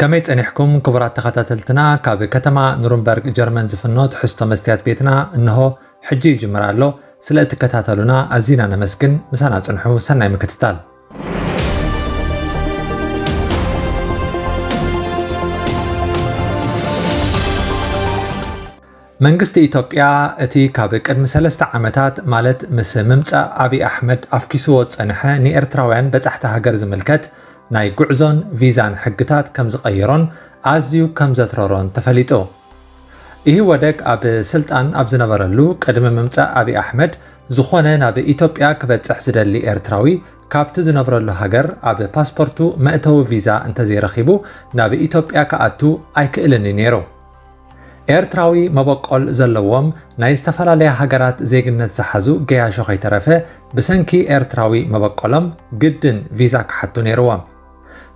ከመይ ጸኒሕኩም ክቡራት ተኸታተልትና? ካብ ከተማ ኑርንበርግ ጀርመን ዝፍኖ ትሕዝቶ መስትያት ቤትና እንሆ ሕጂ ይጅምር ኣሎ። ስለ እትከታተሉና ኣዚና ነመስግን። ምሳና ጽንሑ። ሰናይ ምክትታል። መንግስቲ ኢትዮጵያ እቲ ካብ ቅድሚ ሰለስተ ዓመታት ማለት ምስ ምምጻእ ኣብይ ኣሕመድ ኣፍኪስዎ ዝጸንሐ ንኤርትራውያን በጻሕቲ ሃገር ዝምልከት ናይ ጉዕዞን ቪዛን ሕግታት ከም ዝቐየሮን ኣዝዩ ከም ዘትረሮን ተፈሊጡ። ኢህወደግ ኣብ ስልጣን ኣብ ዝነበረሉ ቅድሚ ምምጻእ ኣብይ ኣሕመድ ዝኾነ ናብ ኢትዮጵያ ክበጽሕ ዝደሊ ኤርትራዊ ካብቲ ዝነብረሉ ሃገር ኣብ ፓስፖርቱ መእተዊ ቪዛ እንተዘይረኺቡ ናብ ኢትዮጵያ ክኣቱ ኣይክእልን እዩ ነይሩ። ኤርትራዊ መበቆል ዘለዎም ናይ ዝተፈላለያ ሃገራት ዜግነት ዝሓዙ ገያሾ ከይተረፈ ብሰንኪ ኤርትራዊ መበቆሎም ግድን ቪዛ ክሓቱ ነይርዎም።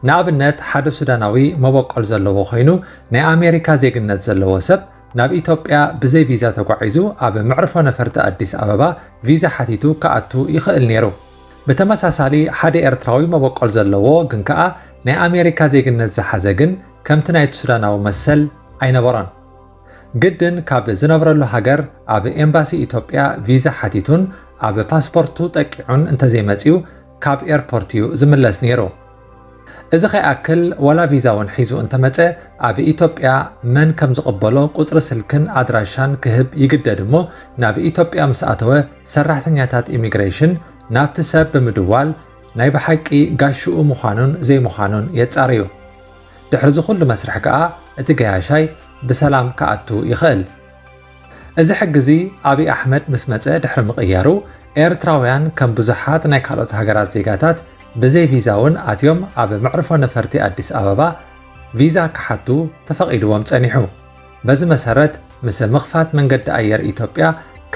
ንኣብነት ሓደ ሱዳናዊ መበቆል ዘለዎ ኮይኑ ናይ ኣሜሪካ ዜግነት ዘለዎ ሰብ ናብ ኢትዮጵያ ብዘይ ቪዛ ተጓዒዙ ኣብ መዕርፎ ነፈርቲ ኣዲስ ኣበባ ቪዛ ሓቲቱ ክኣቱ ይኽእል ነይሩ። ብተመሳሳሊ ሓደ ኤርትራዊ መበቆል ዘለዎ ግን ከኣ ናይ ኣሜሪካ ዜግነት ዝሓዘ ግን ከምቲ ናይቲ ሱዳናዊ መሰል ኣይነበሮን። ግድን ካብ ዝነብረሉ ሃገር ኣብ ኤምባሲ ኢትዮጵያ ቪዛ ሓቲቱን ኣብ ፓስፖርቱ ጠቂዑን እንተዘይመጺኡ ካብ ኤርፖርት እዩ ዝምለስ ነይሩ። እዚ ከይኣክል ዋላ ቪዛ እውን ሒዙ እንተመጸ ኣብ ኢትዮጵያ መን ከም ዝቕበሎ ቁጽሪ ስልክን ኣድራሻን ክህብ ይግደድ እሞ ናብ ኢትዮጵያ ምስ ኣተወ ሰራሕተኛታት ኢሚግሬሽን ናብቲ ሰብ ብምድዋል ናይ ብሓቂ ጋሽኡ ምዃኑን ዘይምዃኑን የጻርዩ። ድሕሪ እዚ ኩሉ መስርሕ ከኣ እቲ ገያሻይ ብሰላም ክኣቱ ይኽእል። እዚ ሕጊ እዚ ኣብይ ኣሕመድ ምስ መጸ ድሕሪ ምቕያሩ ኤርትራውያን ከም ብዙሓት ናይ ካልኦት ሃገራት ዜጋታት ብዘይ ቪዛ እውን ኣትዮም ኣብ መዕርፎ ነፈርቲ ኣዲስ ኣበባ ቪዛ ክሓቱ ተፈቒድዎም ጸኒሑ። በዚ መሰረት ምስ ምኽፋት መንገዲ ኣየር ኢትዮጵያ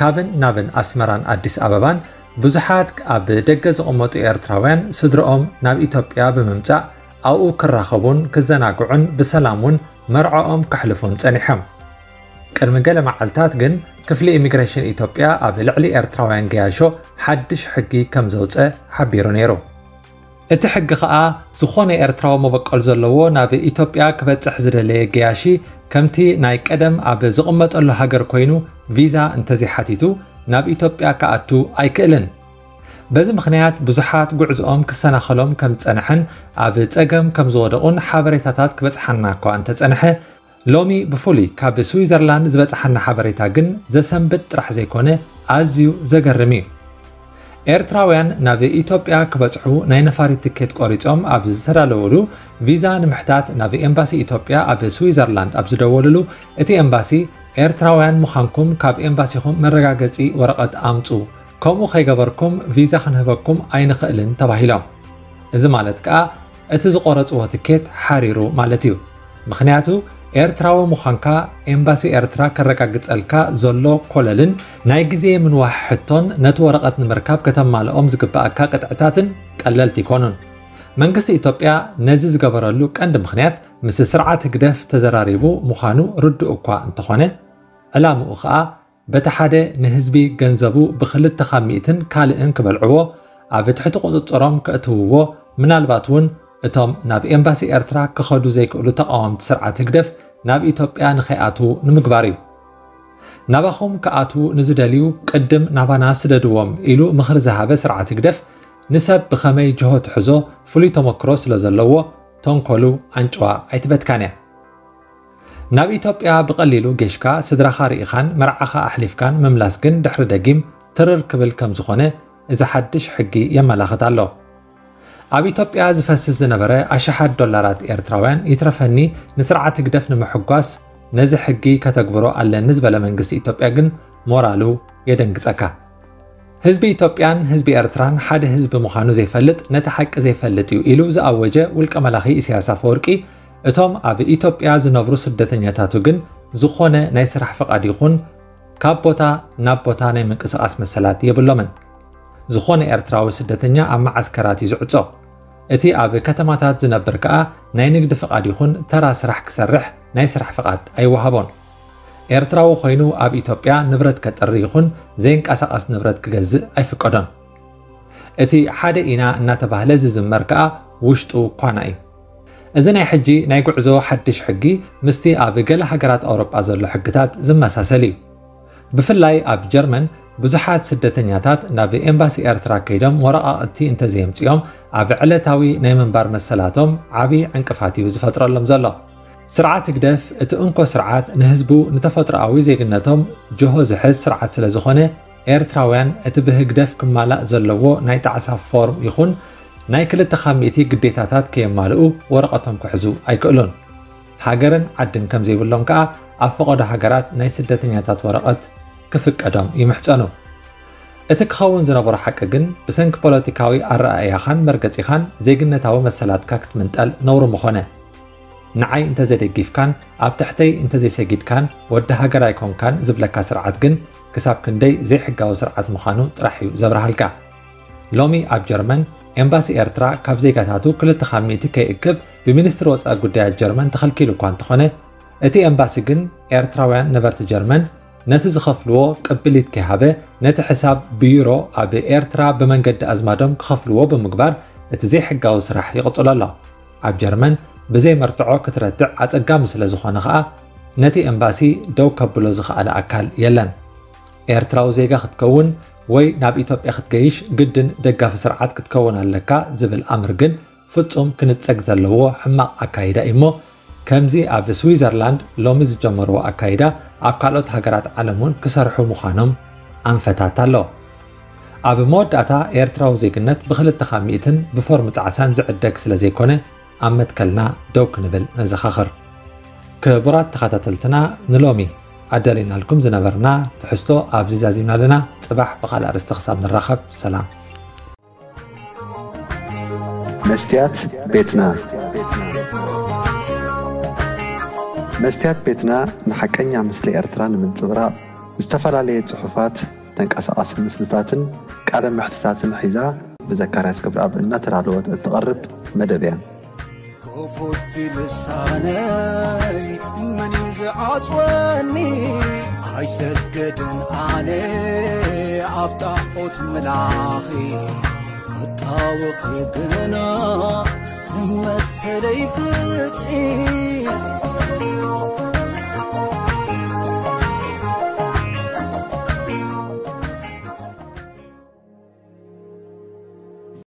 ካብን ናብን ኣስመራን ኣዲስ ኣበባን ብዙሓት ኣብ ደገ ዝቕመጡ ኤርትራውያን ስድርኦም ናብ ኢትዮጵያ ብምምጻእ ኣብኡ ክራኸቡን ክዘናግዑን ብሰላም እውን መርዕኦም ከሕልፉን ጸኒሖም። ቅድሚ ገለ መዓልታት ግን ክፍሊ ኢሚግሬሽን ኢትዮጵያ ኣብ ልዕሊ ኤርትራውያን ገያሾ ሓድሽ ሕጊ ከም ዘውጸ ሓቢሩ ነይሩ። እቲ ሕጊ ከኣ ዝኾነ ኤርትራዊ መበቆል ዘለዎ ናብ ኢትዮጵያ ክበጽሕ ዝደለየ ገያሺ ከምቲ ናይ ቀደም ኣብ ዝቕመጠሉ ሃገር ኮይኑ ቪዛ እንተዘይሓቲቱ ናብ ኢትዮጵያ ክኣቱ ኣይክእልን። በዚ ምኽንያት ብዙሓት ጉዕዝኦም ክሰናኸሎም ከም ዝጸንሐን ኣብ ጸገም ከም ዝወደቑን ሓበሬታታት ክበጽሓና እኳ እንተጸንሐ ሎሚ ብፍሉይ ካብ ስዊዘርላንድ ዝበጽሓና ሓበሬታ ግን ዘሰንብድ ጥራሕ ዘይኮነ ኣዝዩ ዘገርም እዩ። ኤርትራውያን ናብ ኢትዮጵያ ክበጽሑ ናይ ነፋሪት ትኬት ቆሪጾም ኣብ ዝተዳለውሉ ቪዛ ንምሕታት ናብ ኤምባሲ ኢትዮጵያ ኣብ ስዊዘርላንድ ኣብ ዝደወልሉ እቲ ኤምባሲ ኤርትራውያን ምዃንኩም ካብ ኤምባሲኹም መረጋገጺ ወረቐት ኣምጹ፣ ከምኡ ከይገበርኩም ቪዛ ክንህበኩም ኣይንኽእልን ተባሂሎም። እዚ ማለት ከኣ እቲ ዝቆረጽዎ ትኬት ሓሪሩ ማለት እዩ። ምኽንያቱ ኤርትራዊ ምዃንካ ኤምባሲ ኤርትራ ከረጋግጸልካ ዘሎ ኮለልን ናይ ግዜ ምንዋሕ ሕቶን ነቲ ወረቐት ንምርካብ ከተማልኦም ዝግብኣካ ቅጥዕታትን ቀለልቲ ኣይኮኑን። መንግስቲ ኢትዮጵያ ነዚ ዝገበረሉ ቀንዲ ምኽንያት ምስ ስርዓት ህግደፍ ተዘራሪቡ ምዃኑ ርዱእ እኳ እንተኾነ ዕላምኡ ኸኣ በቲ ሓደ ንህዝቢ ገንዘቡ ብኽልተ ካብ ሚእትን ካልእን ክበልዕዎ ኣብ ትሕቲ ቁጽጽሮም ከእትውዎ ምናልባት እውን እቶም ናብ ኤምባሲ ኤርትራ ክኸዱ ዘይክእሉ ተቓወምቲ ስርዓት ህግደፍ ናብ ኢትዮጵያ ንኸይኣትዉ ንምግባር እዩ። ናባኹም ክኣትዉ ንዝደልዩ ቅድም ናባና ስደድዎም ኢሉ ምኽሪ ዝሃበ ስርዓት ህግደፍ ንሰብ ብኸመይ ጅሆ ትሕዞ ፍሉይ ተመክሮ ስለ ዘለዎ ተንኮሉ ኣንጭዋ ኣይትበትካን እያ። ናብ ኢትዮጵያ ብቐሊሉ ጌሽካ ስድራኻ ርኢኻን መርዓኻ ኣሕሊፍካን ምምላስ ግን ድሕሪ ደጊም ትርር ክብል ከም ዝኾነ እዚ ሓድሽ ሕጊ የመላኽት ኣሎ። ኣብ ኢትዮጵያ ዝፈስስ ዝነበረ ኣሽሓት ዶላራት ኤርትራውያን ይትረፈኒ ንስርዓት ህግደፍ ንምሕጓስ ነዚ ሕጊ ከተግብሮ ኣለኒ ዝበለ መንግስቲ ኢትዮጵያ ግን ሞራሉ የደንግጸካ። ህዝቢ ኢትዮጵያን ህዝቢ ኤርትራን ሓደ ህዝቢ ምዃኑ ዘይፈልጥ ነቲ ሓቂ ዘይፈልጥ እዩ ኢሉ ዝኣወጀ ውልቀ መላኺ ኢሳያስ ኣፈወርቂ እቶም ኣብ ኢትዮጵያ ዝነብሩ ስደተኛታቱ ግን ዝኾነ ናይ ስራሕ ፍቓድ ይኹን ካብ ቦታ ናብ ቦታ ናይ ምንቅስቓስ መሰላት የብሎምን። ዝኾነ ኤርትራዊ ስደተኛ ኣብ መዓስከራት እዩ ዝዕጾ። እቲ ኣብ ከተማታት ዝነብር ከኣ ናይ ንግዲ ፍቓድ ይኹን ተራ ስራሕ ክሰርሕ ናይ ስራሕ ፍቓድ ኣይወሃቦን። ኤርትራዊ ኮይኑ ኣብ ኢትዮጵያ ንብረት ከጥሪ ይኹን ዘይንቀሳቐስ ንብረት ክገዝእ ኣይፍቀዶን። እቲ ሓደ ኢና እናተባህለ ዝዝመር ከኣ ውሽጡ ኳና እዩ። እዚ ናይ ሕጂ ናይ ጉዕዞ ሓድሽ ሕጊ ምስቲ ኣብ ገለ ሃገራት ኣውሮጳ ዘሎ ሕግታት ዝመሳሰል እዩ። ብፍላይ ኣብ ጀርመን ብዙሓት ስደተኛታት ናብ ኤምባሲ ኤርትራ ከይዶም ወረቓቕቲ እንተዘየምፅኦም ኣብ ዕለታዊ ናይ ምንባር መሰላቶም ዓብዪ ዕንቅፋት እዩ ዝፈጥረሎም ዘሎ። ስርዓት ህግደፍ እቲ እንኮ ስርዓት ንህዝቡ ንተፈጥሮኣዊ ዜግነቶም ጅሆ ዝሕዝ ስርዓት ስለ ዝኾነ ኤርትራውያን እቲ ብህግደፍ ክማላእ ዘለዎ ናይ ጣዕሳ ፎርም ይኹን ናይ ክልተ ካብ ሚእቲ ግዴታታት ከየማልኡ ወረቐቶም ክሕዙ ኣይክእሉን። ሃገርን ዓድን ከም ዘይብሎም ከኣ ኣብ ፈቐዶ ሃገራት ናይ ስደተኛታት ወረቐት ክፍቀዶም ይምሕጸኑ። እቲ ክኸውን ዝነበሮ ሓቂ ግን ብሰንኪ ፖለቲካዊ ኣረኣእያኻን መርገጺኻን ዜግነታዊ መሰላትካ ክትምንጠል ነውሪ ምኾነ። ንዓይ እንተዘይደጊፍካን ኣብ ትሕተይ እንተዘይሰጊድካን ወዲ ሃገር ኣይኮንካን ዝብለካ ስርዓት ግን ክሳብ ክንደይ ዘይሕጋዊ ስርዓት ምዃኑ ጥራሕ እዩ ዘብርሃልካ። ሎሚ ኣብ ጀርመን ኤምባሲ ኤርትራ ካብ ዜጋታቱ ክልተ ካብ ሚእቲ ከይእክብ ብሚኒስትሪ ወጻኢ ጉዳያት ጀርመን ተኸልኪሉ እኳ እንተኾነ፣ እቲ ኤምባሲ ግን ኤርትራውያን ነበርቲ ጀርመን ነቲ ዝኸፍልዎ ቅብሊት ከይሃበ ነቲ ሕሳብ ብዩሮ ኣብ ኤርትራ ብመንገዲ ኣዝማዶም ክኸፍልዎ ብምግባር እቲ ዘይሕጋዊ ስራሕ ይቕጽሎ ኣሎ። ኣብ ጀርመን ብዘይ መርትዖ ክትረትዕ ኣጸጋሚ ስለ ዝኾነ ኸኣ ነቲ ኤምባሲ ደው ከብሎ ዝኸኣለ ኣካል የለን። ኤርትራዊ ዜጋ ክትከውን ወይ ናብ ኢትዮጵያ ክትገይሽ ግድን ደጋፊ ስርዓት ክትከውን ኣለካ ዝብል ኣምር ግን ፍጹም ክንጸግ ዘለዎ ሕማቕ ኣካይዳ እዩ እሞ፣ ከምዚ ኣብ ስዊዘርላንድ ሎሚ ዝጀመርዎ ኣካይዳ ኣብ ካልኦት ሃገራት ዓለም እውን ክሰርሑ ምዃኖም ኣንፈታት ኣሎ። ኣብ መወዳእታ ኤርትራዊ ዜግነት ብክልተ ካብ ሚእትን ብፎርም ጣዕሳን ዝዕደግ ስለ ዘይኮነ ኣብ መትከልና ደው ክንብል ነዘኻኽር። ክቡራት ተኸታተልትና ንሎሚ ኣዳሊናልኩም ዝነበርና ትሕዝቶ ኣብዚ ዛዚምና ኣለና። ጽባሕ ብኻልእ ኣርእስቲ ክሳብ ንራኸብ ሰላም። መስትያት ቤትና መስትያት ቤትና ንሓቀኛ ምስሊ ኤርትራ ንምንጽብራቕ ዝተፈላለየ ጽሑፋት፣ ተንቀሳቓሲ ምስልታትን ቃለ ምሕትታትን ሒዛ ብዘካርያስ ገብረኣብ እናተዳለወት እትቐርብ መደብ እያ። ክፉት ልሳነይ መን እዩ ዝዓጽወኒ? ኣይሰገድን ኣነ ኣብ ጣዖት ምላኺ ክጣወኺ ግና መሰለይ ፍትሒ